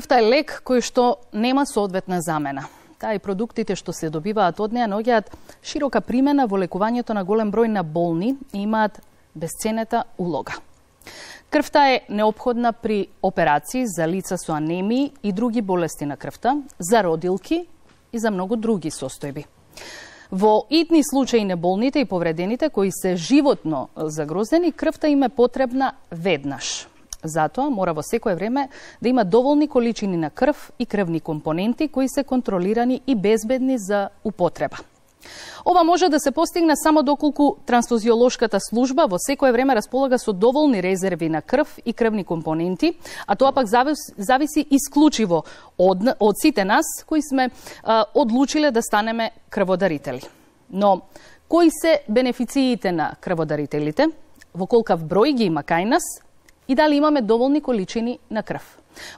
Крвта е лек кој што нема соодветна замена. Таа и продуктите што се добиваат од неа наоѓаат широка примена во лекувањето на голем број на болни и имаат бесценета улога. Крвта е неопходна при операции за лица со анемии и други болести на крвта, за родилки и за многу други состојби. Во итни случаи на болните и повредените кои се животно загрозени, крвта им е потребна веднаш. Затоа мора во секое време да има доволни количини на крв и крвни компоненти кои се контролирани и безбедни за употреба. Ова може да се постигне само доколку трансфузиолошката служба во секое време располага со доволни резерви на крв и крвни компоненти, а тоа пак зависи исклучиво од сите нас кои сме одлучиле да станеме крводарители. Но кои се бенефициите на крводарителите, во колкав број ги има кај нас и дали имаме доволни количини на крв?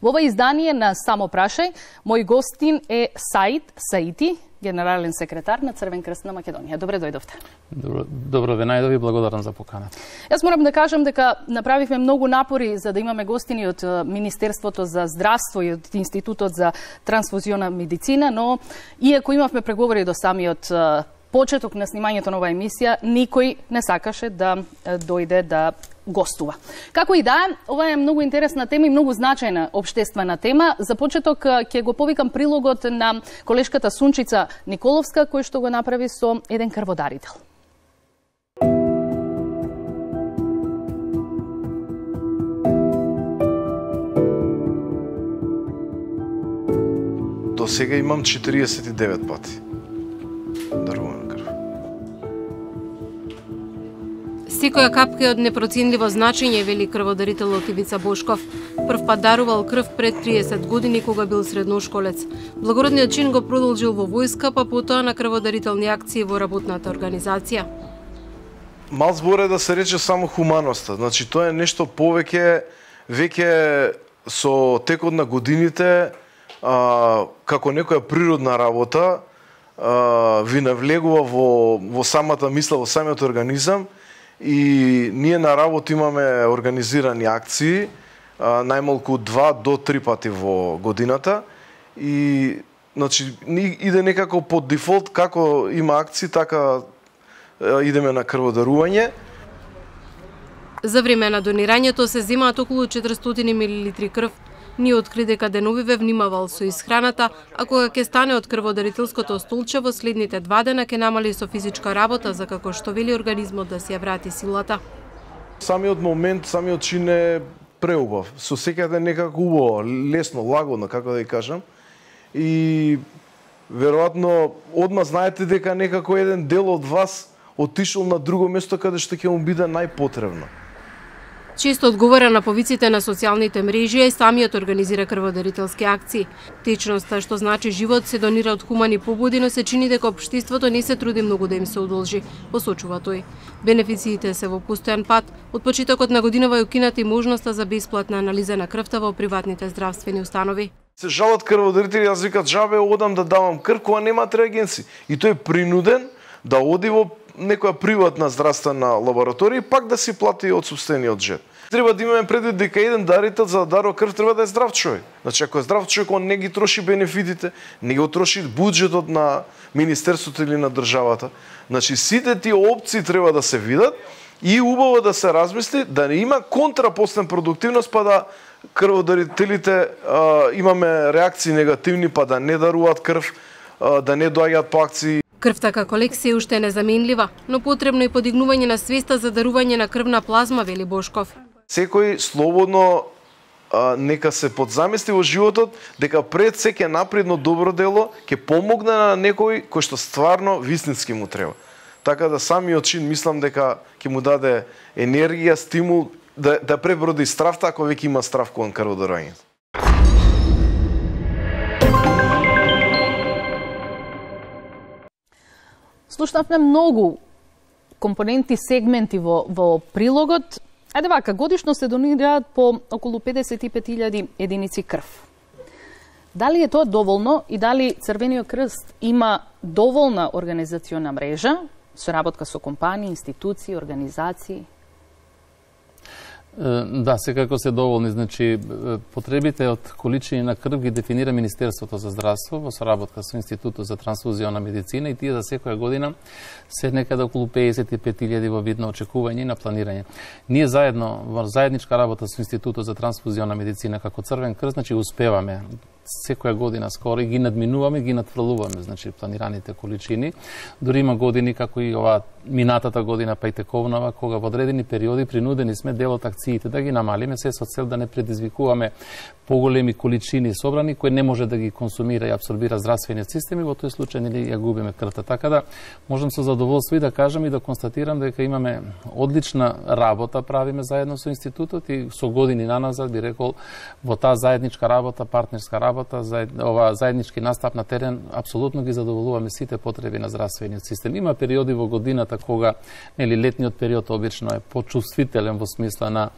Во ова издание на Само прашај, мој гостин е Саид Саити, генерален секретар на Црвен крст на Македонија. Добре дојдовте. Добро ве најдови, благодарам за поканата. Јас морам да кажам дека направивме многу напори за да имаме гостини од Министерството за здравство и од Институтот за трансфузиона медицина, но иако имавме преговори до самиот почеток на снимањето на оваа емисија, никој не сакаше да дојде да гостува. Како и да е, ова е многу интересна тема и многу значајна општествена тема. За почеток ќе го повикам прилогот на колешката Сунчица Николовска, кој што го направи со еден крводарител. До сега имам 49 пати дарувана крв. Секоја капка е од непроценливо значење, вели крводарителот Ивица Бошков. Прв пат дарувал крв пред 30 години кога бил средношколец. Благородниот чин го продолжил во војска, па потоа на крводарителни акции во работната организација. Мал збор е да се рече само хуманоста. Значи тоа е нешто повеќе, веќе со текот на годините, како некоја природна работа, ви навлегува во самата мисла, во самиот организам. И ние на работа имаме организирани акции, најмалку 2 до 3 пати во годината. И значи иде некако по дефолт, како има акции, така идеме на крводарување. За време на донирањето се земаат околу 400 мл крв. Ние откри дека деновиве внимавал со исхраната, а кога ќе стане од крводарителското столче во следните 2 дена ќе намали со физичка работа, за како што вели организмот да си ја врати силата. Самиот момент, самиот чин е преубав. Со секаде некако убаво, лесно, лагодно, како да ја кажам. И веројатно одма знаете дека некако еден дел од вас отишол на друго место каде што ќе му биде најпотребно. Често одговара на повиците на социјалните мрежи и самиот организира крводарителски акции. Течноста, што значи живот, се донира од хумани побуди, но се чини дека општеството не се труди многу да им се удолжи, посочува тој. Бенефициите се во постојан пат. Од почетокот на годинава е укината и можноста за бесплатна анализа на крвта во приватните здравствени установи. Се жалат крводарители, јас викат жабе одам да давам крв кога немаат реагенци. И тој е принуден да оди во некоја приватна здравствена лабораторија и пак да си плати од сопствениот джеб. Треба да имаме предвид дека еден дарител за да дарува крв треба да е здрав човек. Значи ако е здрав човек, он не ги троши бенефитите, не го троши буџетот на министерството или на државата. Значи сите тие опции треба да се видат и убаво да се размисли да не има контрапостен продуктивност, па да крводарителите имаме реакции негативни, па да не даруваат крв, да не доаѓаат по акции. Крвта како лек се уште е незаменлива, но потребно е подигнување на свеста за дарување на крвна плазма, вели Бошков. Секој слободно нека се подзамисли во животот дека пред се ќе напредно добро дело ќе помогне на некој кој што стварно вистински му треба. Така да самиот чин мислам дека ќе му даде енергија, стимул да преброди стравта ако веќе има страв кон крводарувањето. Слушнавме многу компоненти, сегменти во прилогот. Ајде вака, годишно се донираат по околу 55.000 единици крв. Дали е тоа доволно и дали Црвениот крст има доволна организациона мрежа, соработка со компании, институции, организации? Да, секако се доволни. Значи, потребите од количини на крв ги дефинира Министерството за здравство во соработка со Институтот за трансфузиона медицина и тие за секоја година се некаде околу 55.000 во вид на очекување и на планирање. Ние заедно, во заедничка работа со Институтот за трансфузиона медицина како Црвен крст, значи успеваме секоја година скоро и ги надминуваме, ги надфрлуваме, значи планираните количини. Дури има години како и ова минатата година па и тековнава, кога во одредени периоди принудени сме дел од акциите да ги намалиме, се со цел да не предизвикуваме поголеми количини собрани кои не може да ги консумира и абсорбира здравствениот систем и во тој случај нели ја губиме крвта. Така да можам со задоволство и да кажам и да констатирам дека имаме одлична работа правиме заедно со институтот и со години наназад би рекол во таа заедничка работа, партнерска работа, ова заеднички настап на терен апсолутно ги задоволуваме сите потреби на здравствениот систем. Има периоди во годината кога нели летниот период обично е почувствителен во смисла на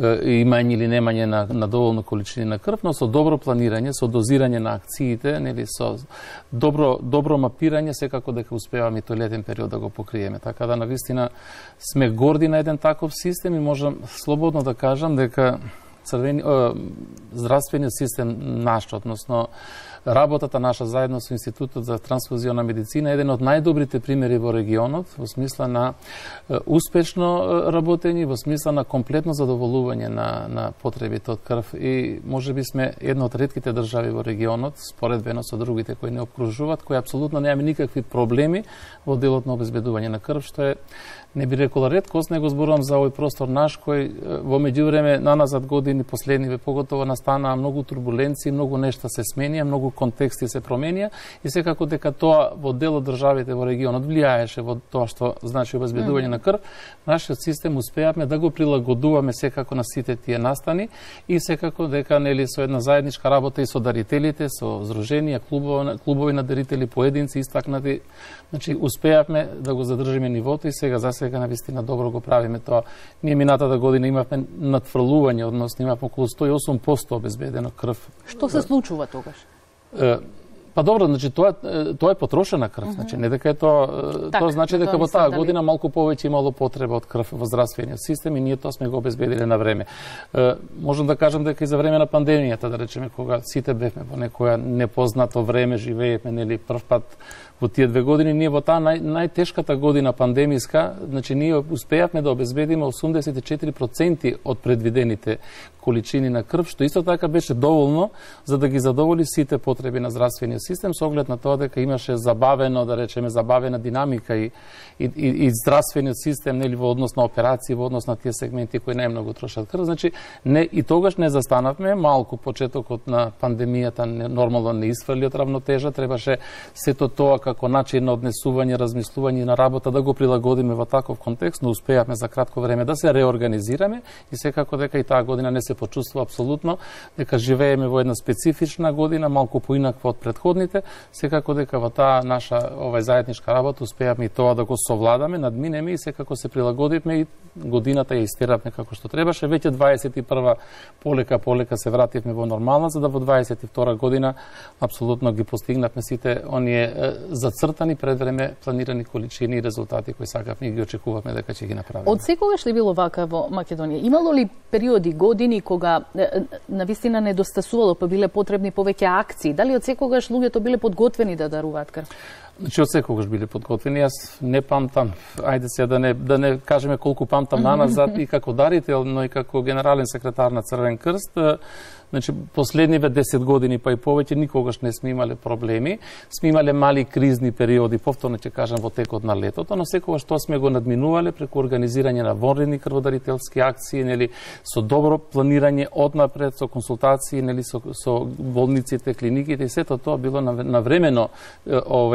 имање или немање на доволно количини на крв, но со добро планирање, со дозирање на акциите, нели со добро мапирање секако дека успеваме и тој летен период да го покриеме. Така да навистина сме горди на еден таков систем и можам слободно да кажам дека здравствениот систем наш, односно работата наша заедно со Институтот за трансфузиона медицина е еден од најдобрите примери во регионот во смисла на успешно работење, во смисла на комплетно задоволување на потребите од крв и можеби сме една од ретките држави во регионот, споредбено со другите кои не обкружуваат, кои апсолутно немаме никакви проблеми во делот на обезбедување на крв, што е не би рекола реткост, него зборувам за овој простор наш кој во меѓувреме наназад години последниве поготово настанаа многу турбуленции, многу нешта се сменија, многу контексти се променија и секако дека тоа во дел од државите во регионот влијаеше во тоа што значи обезбедување на крв. Нашиот систем успеавме да го прилагодуваме секако на сите тие настани и секако дека нели со една заедничка работа и со дарителите, со здруженија, клубови на дарители, поединци истакнати, значи успеавме да го задржиме нивото и сега за сега навистина добро го правиме тоа. Ние минатата година имавме надфрлување, односно имавме околу 108% обезбедено крв. Што се случува тогаш? Па добро, значи тоа е потрошена крв, значи не дека е тоа значи дека во таа година малку повеќе имало потреба од крв во здравствениот систем и ние тоа сме го обезбедиле на време. Можам да кажам дека и за време на пандемијата, да речеме, кога сите бевме во некоја непознато време, живеевме нели прв пат во тие 2 години, ние во таа најтешката година пандемиска, значи ние успеавме да обезбедиме 84% од предвидените количини на крв, што исто така беше доволно за да ги задоволи сите потреби на здравствениот систем, со оглед на тоа дека имаше забавена динамика и здравствениот систем нели во однос на операции, во однос на тие сегменти кои најмногу трошат крв. Значи и тогаш не застанавме, малку почетокот на пандемијата нормално не исфрли од равнотежа, требаше сето тоа како начин на однесување, размислување на работа да го прилагодиме во таков контекст, но успеавме за кратко време да се реорганизираме и секако дека и таа година не се почувствува апсолутно дека живееме во една специфична година, малку поинаква од претходните, секако дека во таа наша заедничка работа успеавме и тоа да го совладаме, надминеме и секако се прилагодивме и годината ја истеравме како што требаше. Веќе 21 полека се вративме во нормална, за да во 22 година апсолутно ги постигнавме сите оние зацртани пред време планирани количини и резултати кои сакавме и ги очекувавме дека ќе ги направиме. Од секогаш ли било вака во Македонија? Имало ли периоди, години кога навистина недостасувало, па биле потребни повеќе акции? Дали од секогаш луѓето биле подготвени да даруваат крв? Значи од секогаш биле подготвени. Јас не памтам, ајде се да не кажеме колку памтам наназад и како дарител, но и како генерален секретар на Црвен крст. Значи, последниве 10 години па и повеќе никогаш не сме имале проблеми. Сме имале мали кризни периоди, повторно ќе кажам во текот на летото, но секогаш тоа сме го надминувале преку организирање на вонредни крводарителски акции, нели со добро планирање однапред, со консултации, нели со болниците, клиниките и сето тоа било навремено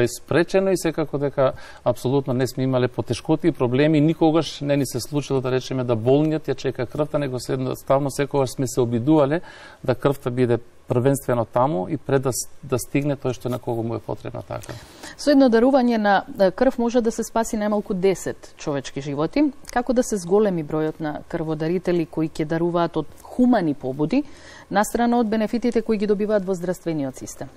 спречено и секако дека апсолутно не сме имале потешкоти и проблеми, никогаш не ни се случило да речеме да болниот ја чека крвта, него ставно секогаш сме се обидувале да крвта биде првенствено таму и пред да стигне тој што на кого му е потребна така. Со едно дарување на крв може да се спаси најмалку 10 човечки животи. Како да се зголеми бројот на крводарители кои ќе даруваат од хумани побуди, настрана од бенефитите кои ги добиваат во здравствениот систем?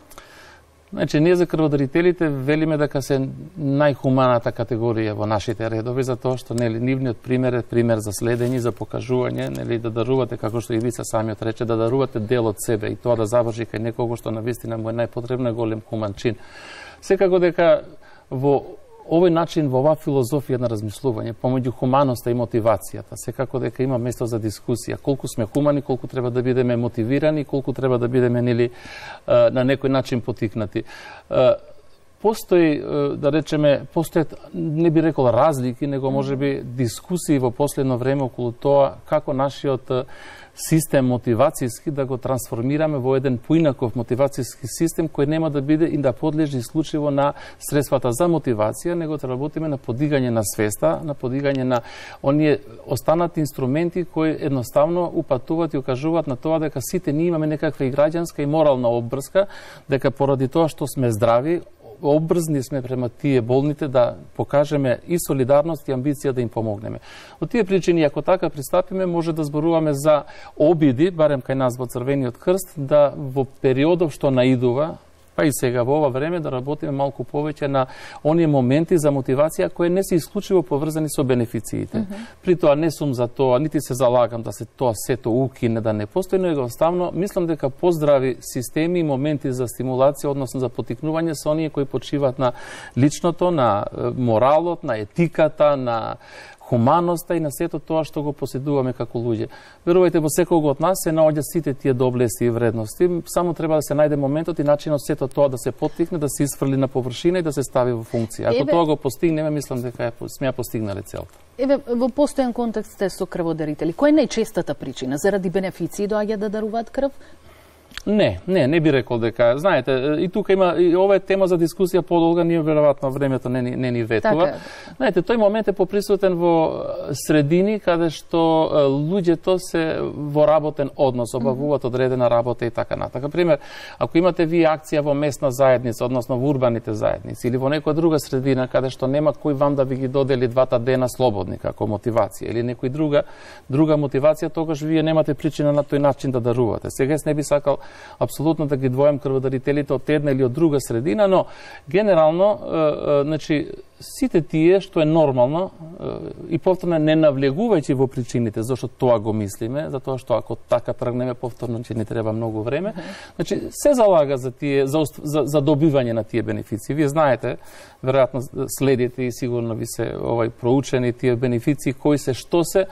Значи, ние за крводарителите велиме дека се најхуманата категорија во нашите редови, затоа што нивниот пример е пример за следење, за покажување, да дарувате, како што и Ивица самиот рече, да дарувате дел од себе и тоа да заврши кај некого што навистина му е најпотребно, голем хуман чин. Секако дека во овој начин, во оваа филозофија на размислување, помеѓу хуманоста и мотивацијата, секако дека има место за дискусија. Колку сме хумани, колку треба да бидеме мотивирани, колку треба да бидеме на некој начин потикнати. Постои, да речеме, постојат, не би рекол разлики, него можеби дискусии во последно време околу тоа како нашиот систем мотивацијски да го трансформираме во еден поинаков мотивацијски систем кој нема да биде и да подлежи исклучиво на средствата за мотивација, него да работиме на подигање на свеста, на подигање на оние останати инструменти кои едноставно упатуваат и укажуваат на тоа дека сите ние имаме некаква и граѓанска и морална обврска, дека поради тоа што сме здрави, обрзни сме према тие болните да покажеме и солидарност и амбиција да им помогнеме. Од тие причини, ако така пристапиме, може да зборуваме за обиди, барем кај нас во Црвениот крст, да во периодов што наидува, па и сега во ова време да работиме малку повеќе на оние моменти за мотивација кои не се исклучиво поврзани со бенефициите. При тоа не сум за тоа, нити се залагам да се тоа сето укине, да не постои, но едноставно мислам дека поздрави системи и моменти за стимулација, односно за потикнување, се оние кои почиваат на личното, на моралот, на етиката, на хуманоста и на сето тоа што го поседуваме како луѓе. Верувајте, во секого од нас се наоѓаат сите тие доблести и вредности, само треба да се најде моментот и начинот сето тоа да се поттикне, да се исфрли на површина и да се стави во функција. Ако тоа го постигнеме, мислам дека сме ја постигнале целта. Еве, во постојан контекст сте со крводарители. Која е најчестата причина? Заради бенефиции доаѓа да даруваат крв? Не би рекол дека, знаете, и тука има, и ова е тема за дискусија подолга, ние веројатно времето не ни ветува. Знаете, тој момент е поприсутен во средини каде што луѓето се во работен однос, обавуваат одредена работа и така натака. Пример, ако имате вие акција во местна заедница, односно во урбаните заедници, или во некоја друга средина каде што нема кој вам да ви ги додели 2 дена слободни како мотивација, или некој друга мотивација, тогаш вие немате причина на тој начин да дарувате. Сега не би сакал апсолутно да ги двојам крводарителите од една или од друга средина, но генерално, значи, сите тие што е нормално и повторно не навлегувајќи во причините зашто тоа го мислиме, затоа што ако така тргнеме повторно ќе ни треба многу време, значи се залага за тие за добивање на тие бенефиции. Вие знаете, веројатно следите и сигурно ви се проучени тие бенефиции кои се, што се.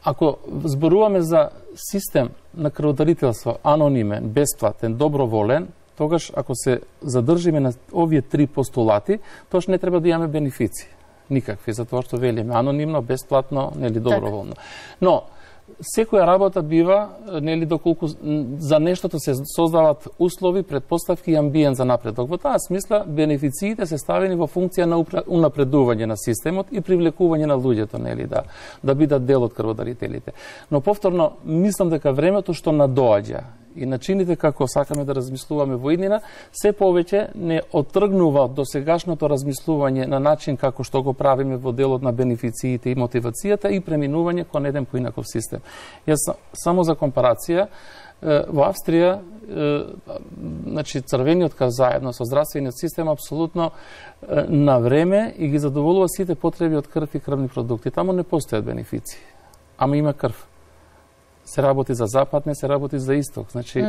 Ако зборуваме за систем на крводарителство, анонимен, бесплатен, доброволен, тогаш ако се задржиме на овие 3 постулати, тоаш не треба да имаме бенефиции. Никакви, затоа што велиме анонимно, бесплатно, нели доброволно. Но секоја работа бива, нели, доколку за нештото се создаваат услови, предпоставки и амбиент за напредок. Во таа смисла, бенефициите се ставени во функција на унапредување на системот и привлекување на луѓето, нели, да бидат дел од крводарителите. Но повторно, мислам дека времето што надоаѓа и начините како сакаме да размислуваме во иднина, се повеќе не оттргнува од досегашното размислување на начин како што го правиме во делот на бенефициите и мотивацијата и преминување кон еден поинаков систем. Јас само за компарација, во Австрија, значи Црвениот крст заедно со здравствениот систем апсолутно на време и ги задоволува сите потреби од крв и крвни продукти. Таму не постојат бенефиции, ама има крв. Се работи за запад, не се работи за исток. Значи,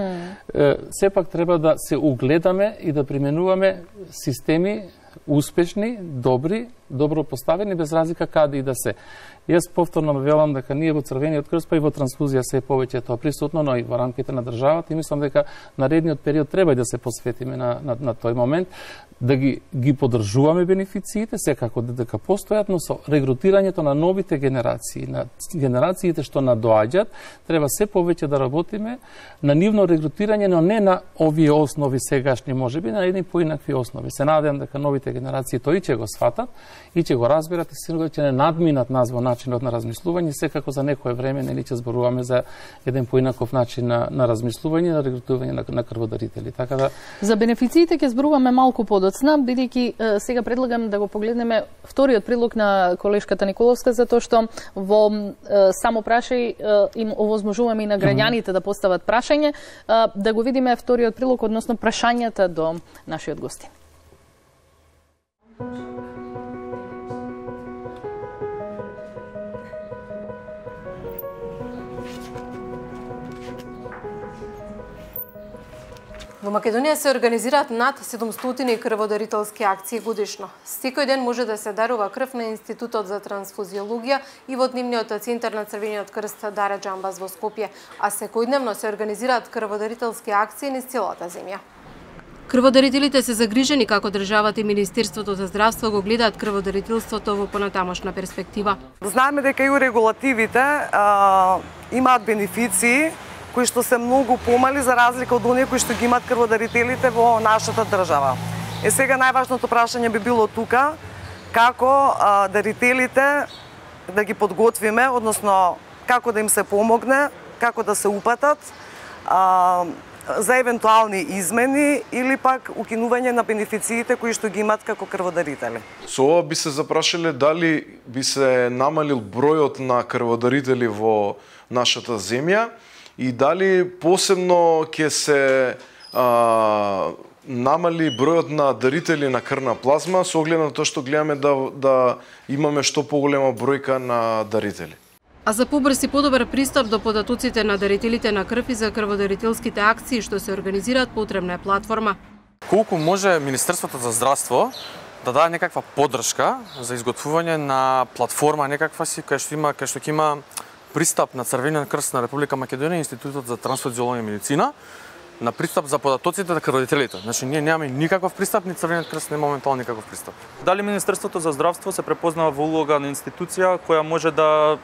сепак треба да се угледаме и да применуваме системи успешни, добри, добро поставени, без разлика каде и да се. Јас повторно велам дека ние во Црвениот крст, па и во трансфузија се повеќе тоа присутно, но и во рамките на државата, и мислам дека наредниот период треба и да се посветиме на тој момент, да ги поддржуваме бенефициите, секако дека постојат, но со регрутирањето на новите генерации, на генерациите што надоаѓаат, треба се повеќе да работиме на нивно регрутирање, но не на овие основи сегашни, можеби на едни поинакви основи. Се надевам дека новите новите генерации тој ќе го сватат и ќе го разберат и сигурно ќе не надминат нас во начинот на размислување, секако за некое време нели ќе зборуваме за еден поинаков начин на размислување, на регрутување на крводарители. Така да за бенефициите ќе зборуваме малку подоцна, бидејќи сега предлагам да го погледнеме вториот предлог на колешката Николовска, затоа што во само прашај им овозможуваме и на граѓаните да постават прашање, да го видиме вториот прилог, односно прашањата до нашиот гости. Во Македонија се организираат над 700 крводарителски акции годишно. Секој ден може да се дарува крв на Институтот за трансфузиологија и во дневниот центар на Црвениот крст Даре Џамбаз во Скопје, а секојдневно се организираат крводарителски акции низ целата земја. Крводарителите се загрижени како државата и Министерството за здравство го гледаат крводарителството во понатамошна перспектива. Знаеме дека и регулативите имаат бенефиции кои што се многу помали за разлика од оние кои што ги имаат крводарителите во нашата држава. Сега најважното прашање би било тука како дарителите да ги подготвиме, односно како да им се помогне, како да се упатат за евентуални измени или пак укинување на бенефициите кои што ги имаат како крводарители. Со ова би се запрашале дали би се намалил бројот на крводарители во нашата земја и дали посебно ќе се намали бројот на дарители на крвна плазма со оглед на тоа што гледаме да имаме што поголема бројка на дарители. А за побрз и подобар пристап до податоците на дарителите на крв и за крводарителските акции што се организираат потребна е платформа. Колку може Министерството за здравство да даде некаква поддршка за изготвување на платформа некаква си кај што ќе има пристап на Црвениот крст на Република Македонија и Институтот за трансфузиологија и медицина на пристап за податоците на крводарителите. Значи ние немаме никаков пристап, ни Црвениот крст не моментално никаков пристап. Дали Министерството за здравство се препознава во улога на институција која може да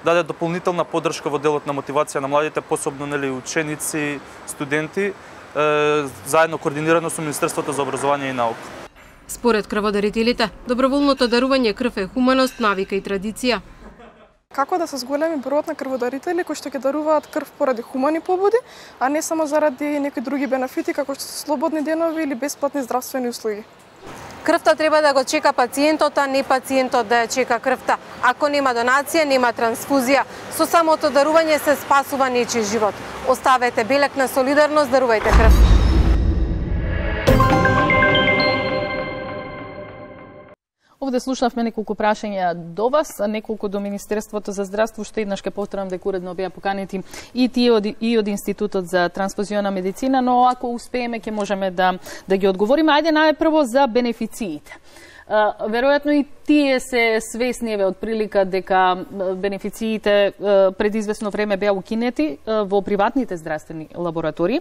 даде дополнителна поддршка во делот на мотивација на младите, посебно ученици, студенти, заедно координирано со Министерството за образование и наука. Според крводарителите, доброволното дарување крв е хуманост, навика и традиција. Како да се зголеми бројот на крводарители кои што ќе даруваат крв поради хумани побуди, а не само заради некои други бенефити како што се слободни денови или бесплатни здравствени услуги. Крвта треба да го чека пациентот, а не пациентот да ја чека крвта. Ако нема донација, нема трансфузија. Со самото дарување се спасува нечи живот. Оставете белек на солидарност, дарувајте крв. Овде слушнавме неколку прашања до вас, неколку до Министерството за здравство, што еднаш ке повторам дека уредно беа поканети и тие од Институтот за трансфузиона медицина, но ако успееме ќе можеме да ги одговориме. Ајде најпрво за бенефициите. Веројатно и тие се свесни од прилика дека бенефициите пред известно време беа укинети во приватните здравствени лаборатории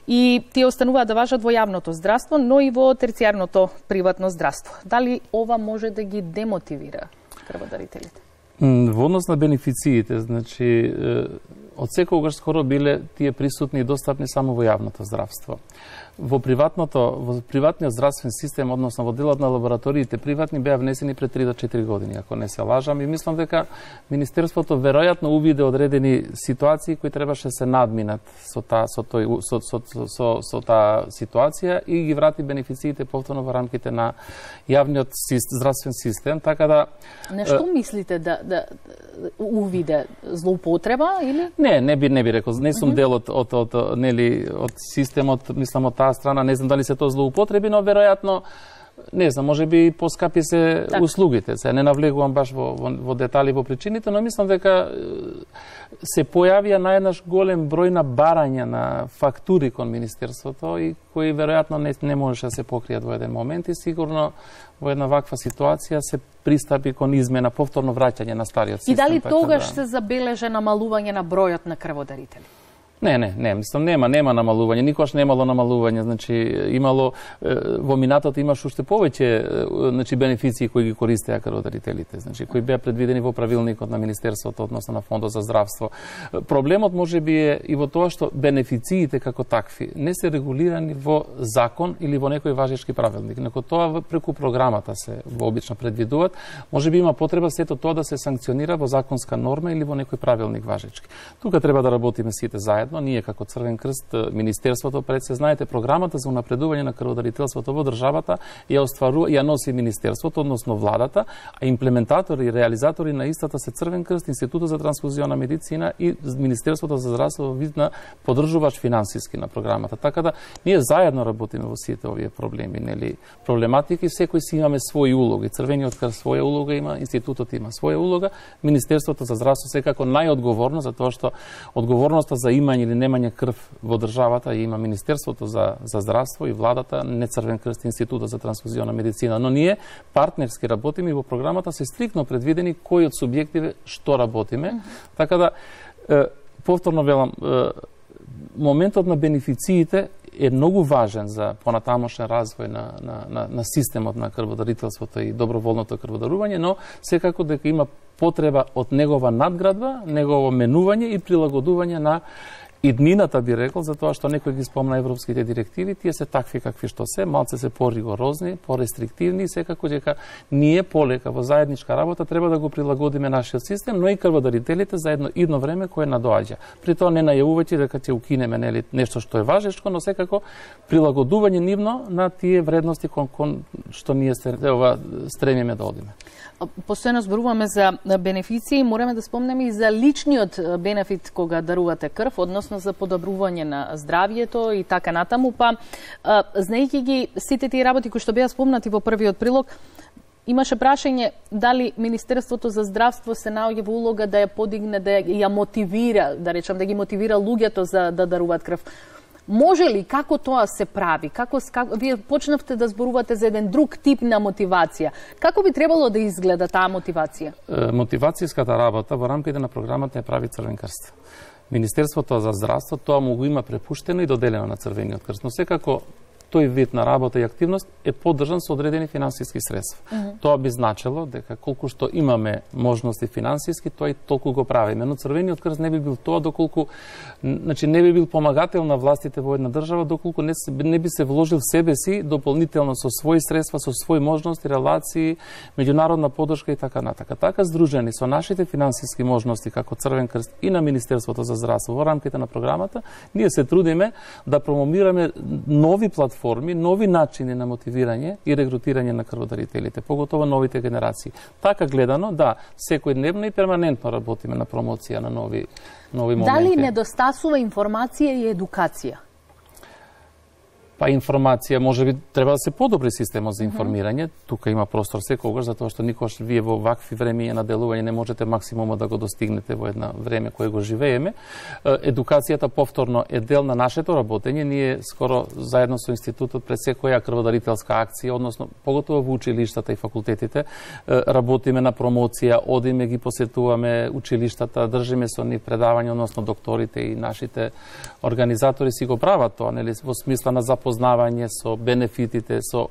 и тие остануваат да важат во јавното здравство, но и во терцијарното приватно здравство. Дали ова може да ги демотивира крводарителите? Во однос на бенефициите, значи од секогаш скоро биле тие присутни и достапни само во јавното здравство. Во приватниот здравствен систем, односно во делот на лабораториите приватни, беа внесени пред 3 до 4 години, ако не се лажам, и мислам дека Министерството веројатно увиде одредени ситуации кои требаше се надминат со таа ситуација и ги врати бенефициите повторно во рамките на јавниот здравствен систем, така да... Нешто мислите да увиде злоупотреба или? Не би рекол, не сум дел од системот, мислам од таа страна, не знам дали се тоа злоупотреби, но веројатно не знам, може би поскапи се услугите. Се не навлегувам баш во детали во причините, но мислам дека се појавија наеднаш голем број на барања на фактури кон Министерството и кои веројатно не можеше да се покријат во еден момент и сигурно во една ваква ситуација се пристапи кон измена, повторно враќање на стариот систем. И дали тогаш се забележа намалување на бројот на крводарители? Не, мислам нема намалување, никош немало намалување, значи имало во минатото имаш уште повеќе значи бенефиции кои ги користеа крводарителите, значи кои беа предвидени во правилникот на Министерството, односно на Фондот за здравство. Проблемот можеби е и во тоа што бенефициите како такви не се регулирани во закон или во некој важечки правилник, неко тоа преку програмата се вообично предвидуваат, можеби има потреба сето тоа да се санкционира во законска норма или во некој правилник важечки. Тука треба да работиме сите заедно, ние како Црвен крст, Министерството, пред се знаете, програмата за унапредување на крводарителството во државата ја носи Министерството, односно владата, а имплементатори и реализатори на истата се Црвен крст, Институтот за трансфузионна медицина и Министерството за здравство вид на поддржуваш финансиски на програмата. Така да ние заедно работиме во сите овие проблеми, нели, проблематики, секој си имаме своји улоги. Црвениот крст своја улога има, Институтот има своја улога, Министерството за здравство секако најодговорно, затоа што одговорноста за имање или немање крв во државата има Министерството за здравство и владата, не Црвен крст, Институтот за трансфузионна медицина, но ние партнерски работиме и во програмата се стрикно предвидени кои од субјективе што работиме. Така да повторно велам, моментот на бенефициите е многу важен за понатамошен развој на системот на крводарителството и доброволното крводарување, но секако дека има потреба од негова надградба, негово менување и прилагодување на иднината, би рекол, затоа што некој ги спомна европските директиви, тие се такви какви што се, малце се поригорозни, порестриктивни, секако дека ние полека во заедничка работа треба да го прилагодиме нашиот систем, но и крводарителите за едно време кое надоаѓа. При тоа не најавувајќи дека ќе укинеме нели нешто што е важечко, но секако прилагодување нивно на тие вредности кон што ние стремиме да одиме. Постојано зборуваме за бенефиции, мораме да спомнеме и за личниот бенефит кога дарувате крв, односно за подобрување на здравјето и така натаму, па знаејќи ги сите тие работи кои што беа спомнати во првиот прилог, имаше прашање дали Министерството за здравство се наоѓа во улога да ја подигне, да ја мотивира, да речам, да ги мотивира луѓето за да даруваат крв. Може ли, како тоа се прави? Како вие почнавте да зборувате за еден друг тип на мотивација. Како би требало да изгледа таа мотивација? Мотивацијската работа во рамките на програмата ја прави Црвен крст. Министерството за здравство тоа му го има препуштено и доделено на Црвениот крст, но секако тој вид на работа и активност е поддржан со одредени финансиски средства. Тоа би значило дека колку што имаме можности финансиски, тоа и толку го правиме. Но Црвениот крст не би бил тоа доколку, значи не би бил помагател на властите во една држава доколку не би се вложил в себе си дополнително со своји средства, со своји можности, релации, меѓународна поддршка и така натака. Така здружени со нашите финансиски можности како Црвен крст и на Министерството за здравство во рамките на програмата, ние се трудиме да промомираме нови платформи, нови начини на мотивирање и регрутирање на крводарителите, поготово новите генерации. Така гледано, да, секојдневно и перманентно работиме на промоција на нови моменти. Дали недостасува информација и едукација? Па информација, можеби треба да се подобри системот за информирање. Тука има простор секогаш, затоа што никош вие во вакви времиња на делување не можете максимумот да го достигнете во една време кое го живееме. Едукацијата повторно е дел на нашето работење. Ние скоро заедно со институтот пред секоја крводарителска акција, односно поготово во училиштата и факултетите, работиме на промоција, одиме ги посетуваме училиштата, држиме со нив предавања, односно докторите и нашите организатори си го прават тоа, нели, во смисла на запознавање со бенефитите, со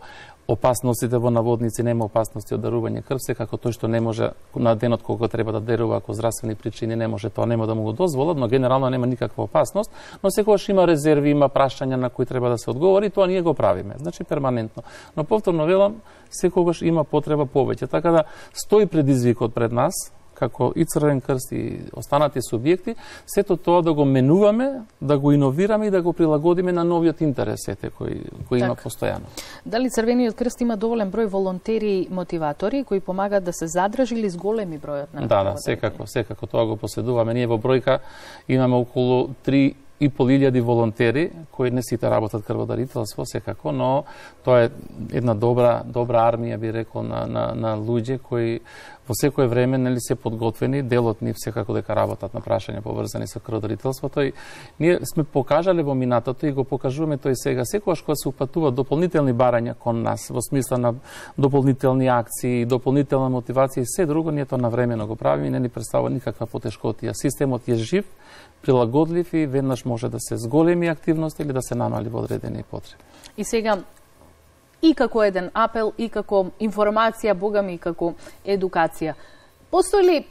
опасностите во наводници, нема опасности од дарување крв, секако тој што не може на денот кога треба да дарува, ако здравствени причини не може, тоа нема да му го дозволат, но генерално нема никаква опасност, но секогаш има резерви, има прашања на кои треба да се одговори, тоа ние го правиме, значи перманентно. Но повторно велам, секогаш има потреба повеќе, така да стои предизвикот пред нас, како и Црвен крст и останати субјекти, сето тоа да го менуваме, да го иновираме и да го прилагодиме на новиот интерес кој има постојано. Дали Црвениот крст има доволен број волонтери и мотиватори кои помагаат да се задржи или зголеми бројот на Да, секако тоа го поседуваме. Ние во бројка имаме околу 3.500 волонтери кои не сите работат крводарителство секако, но тоа е една добра армија, би рекол, на луѓе кои во секое време нели се подготвени, делот нив секако дека работат на прашања поврзани со крводарителството и ние сме покажале во минатото и го покажуваме тој сега секогаш кога се упатуваат дополнителни барања кон нас во смисла на дополнителни акции, дополнителна мотивација и се друго, ние тоа навремено го правиме и не ни представува никаква потешкотија. Системот е жив, прилагодлив и веднаш може да се зголеми активност или да се намали во одредени потреби. И сега и како еден апел, и како информација, богами, и како едукација. Постои ли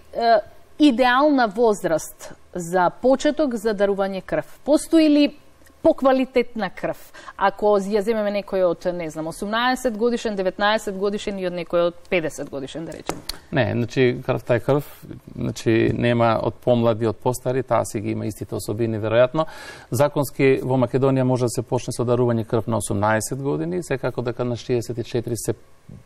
идеална возраст за почеток за дарување крв? Постои ли поквалитетна крв? Ако ја земеме некој од, не знам, 18 годишен, 19 годишен и од некој од 50 годишен, да речем? Не, значи крвта е крв, значи нема од помлади, од постари, таа си ги има истите особини веројатно. Законски во Македонија може да се почне со дарување крв на 18 години, секако дека на 64 се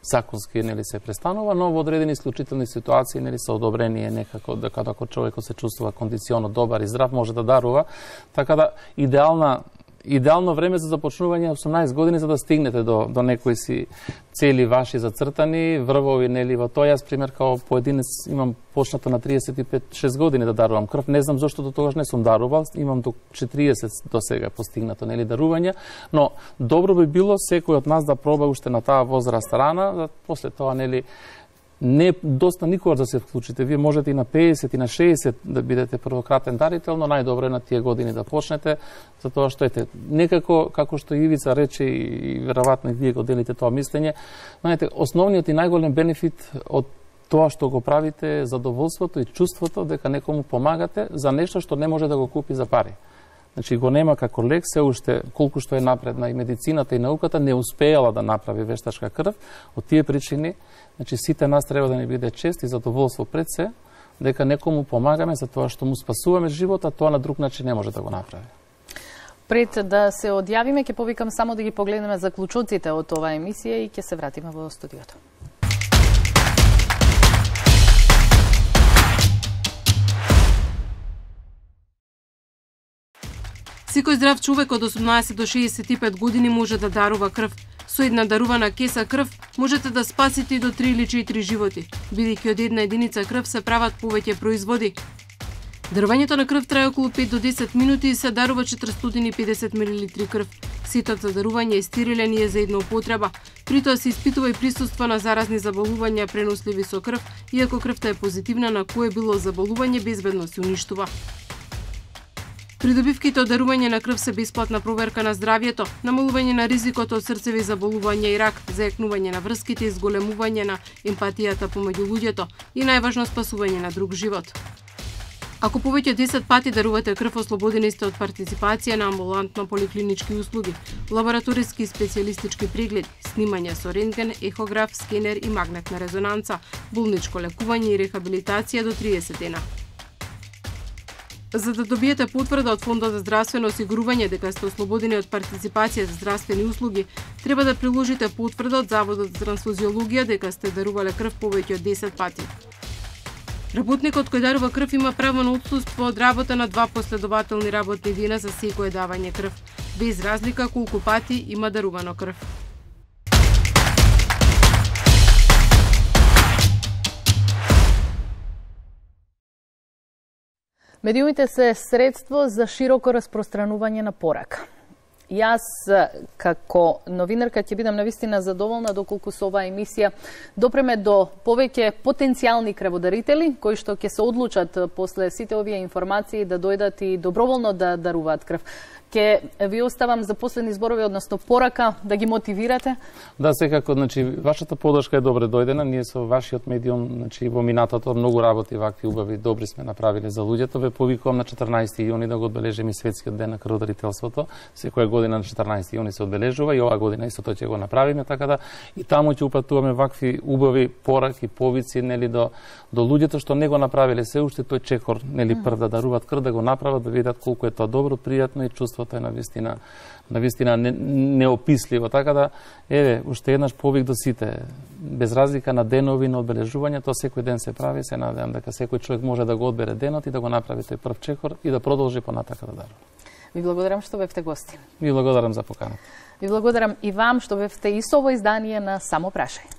законски нели се престанува, но во одредени исклучителни ситуации нели се одобрение некако дека ако човекот се чувствува кондиционо добар и здрав може да дарува, така да идеално време за започнување 18 години за да стигнете до некои си цели ваши зацртани, врвови нели во тоа. Јас пример као поединец имам почнато на 35-6 години да дарувам крв. Не знам зошто до тогаш не сум дарувал, имам до 40 до сега постигнато нели дарување, но добро би било секој од нас да проба уште на таа возраст рана, да после тоа нели не доста никогаш да се вклучите. Вие можете и на 50 и на 60 да бидете првократен дарител, но најдобро е на тие години да почнете, затоа што ете некако како што Ивица рече и веројатно и вие го делите тоа мислење, знаете, основниот и најголем бенефит од тоа што го правите е задоволството и чувството дека некому помагате за нешто што не може да го купи за пари. Значи го нема како лек, се уште колку што е напредна и медицината и науката не успеала да направи вештачка крв. Од тие причини, значи сите нас треба да ни биде чест и задоволство пред се дека некому помагаме за тоа што му спасуваме живот, а тоа на друг начин не може да го направи. Пред да се одјавиме, ќе повикам само да ги погледнеме заклучоците од оваа емисија и ќе се вратиме во студиото. Секој здрав човек од 18 до 65 години може да дарува крв. Со една дарувана кеса крв можете да спасите и до 3 или 4 животи, бидејќи од една единица крв се прават повеќе производи. Дарувањето на крв трае околу 5 до 10 минути и се дарува 450 мл крв. Сетот за дарување е стерилен и е за една употреба. При тоа се испитува и присуство на заразни заболувања преносливи со крв, иако крвта е позитивна на кое било заболување безбедно се уништува. Придобивките од дарување на крв се бесплатна проверка на здравјето, намалување на ризикот од срцеви заболувања и рак, зајакнување на врските и зголемување на емпатијата помеѓу луѓето и најважно спасување на друг живот. Ако повеќе од 10 пати дарувате крв, ослободени сте од партиципација на амбулантно поликлинички услуги, лабораториски и специјалистички прегледи, снимање со рентген, ехограф, скенер и магнетна резонанца, болничко лекување и рехабилитација до 30 дена. За да добиете потврда од Фондот за здравствено осигурување дека сте ослободени од партиципација за здравствени услуги, треба да приложите потврда од Заводот за трансфузиологија дека сте дарувале крв повеќе од 10 пати. Работникот кој дарува крв има право на отсуство од работа на 2 последователни работни дена за секое давање крв, без разлика колку пати има дарувано крв. Медиумите се средство за широко распространување на порака. Јас, како новинарка, ќе бидам навистина задоволна доколку со оваа емисија допреме до повеќе потенцијални крводарители, кои што ќе се одлучат после сите овие информации да дојдат и доброволно да даруваат крв. Ке ви оставам за последни зборови, односно порака, да ги мотивирате? Да, секако, значи, вашата подршка е добре дојдена. Ние со вашиот медиум, значи, во минатото многу работи вакви убави, добри сме направиле за луѓето. Ве повикувам на 14 јуни да го одбележиме светскиот ден на крводарителството. Секоја година на 14 јуни се одбележува и оваа година исто тоа ќе го направиме, така да и таму ќе упатуваме вакви убави пораки, повици, нели, до луѓето што не го направиле се уште тој чекор, нели, прв да даруваат крв, да го направат, да видат колку е тоа добро, пријатно и чувството е навистина неописливо. Така да, еве, уште еднаш повик до сите. Без разлика на денови на одбележување, тоа секој ден се прави, се надевам дека секој човек може да го одбере денот и да го направи тој прв чекор и да продолжи понатака да дарува. Ви благодарам што бевте гости. Ви благодарам за поканата. Ви благодарам и вам што бевте и со ово издание на Само прашај.